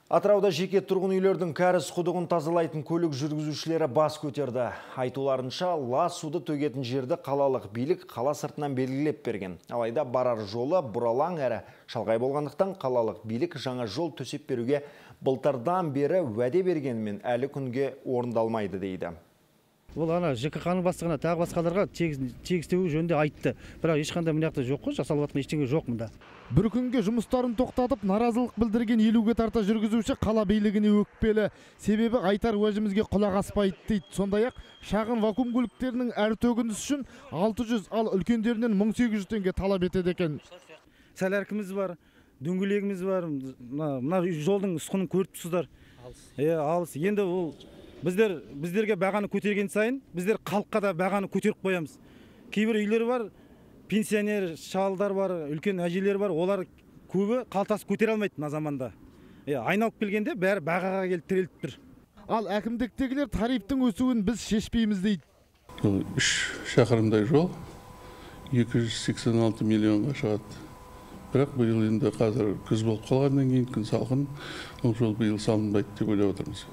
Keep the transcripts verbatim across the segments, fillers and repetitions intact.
Атырауда жеке тұрғын үйлердің кәріз құдығын тазалайтын көлік жүргізушілері бас көтерді. Айтуларынша, лас суды төгетін жерді қалалық билік қала сыртынан белгілеп берген. Алайда барар жолы бұралаң әрі шалғай болғандықтан қалалық билік жаңа жол төсеп беруге былтырдан бері уәде бергенмен әлі күнге орындалмайды дейді. Ол ана ЖКХ-ның бастығына тағы басқаларға тегістеуі жөнінде айтты. Бірақ ешқандай мынаяқта жоқ қой, жасалып жатқан ештеңе жоқ мұнда. Бір күнге жұмыстарын тоқтатып, наразылық білдірген елуге тарта жүргізуші қала билігіне өкпелі. Себебі айтар уәжімізге құлақ аспайды дейді. Сондай-ақ шағын вакуум көліктерінің әр төгініс үшін алты жүз, ал үлкендерінен мың сегіз жүз теңге талап етеді екен. Сәләркіміз бар, дөңгелегіміз бар, мына жолдың ұсқынын көріп тұрсыздар. Е, алыс. Енді ол Біздер, біздерге бағаны көтерген сайын, біздер халыққа да бағаны көтеріп қоямыз. Кейбір үйлер бар, пенсионер шалдар бар, үлкен әжелер бар, олар көбі қалтасы көтере алмайды мына заманда. Е, айналып келгенде бәрі бағаға келіп тіреліп тұр. Ал әкімдіктегілер тарифтің өсуін біз шешпейміз дейді. үш шақырымдай жол екі жүз сексен алты миллионға шығады. Бірақ биыл енді қазір күз болып қалғаннан кейін күн салқын, ол жол биыл салынбайды деп ойлап отырмыз.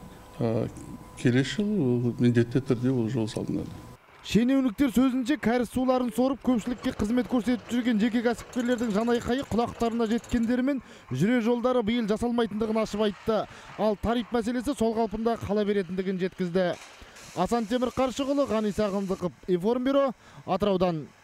Келесі жыл міндетті түрде ол жол салынады. Шенеуніктер сөзінше кәріз суларын сорып көпшілікке қызмет көрсетіп жүрген жеке кәсіпкерлердің жанайқайы құлақтарына жеткендерімен жүре жолдары биыл жасалмайтындығын ашып айтты. Ал тариф мәселесі сол қалпында қала беретіндігін жеткізді. Асан Темір Қаршығұлы, Ғани Сағындықов, Информбюро, Атыраудан.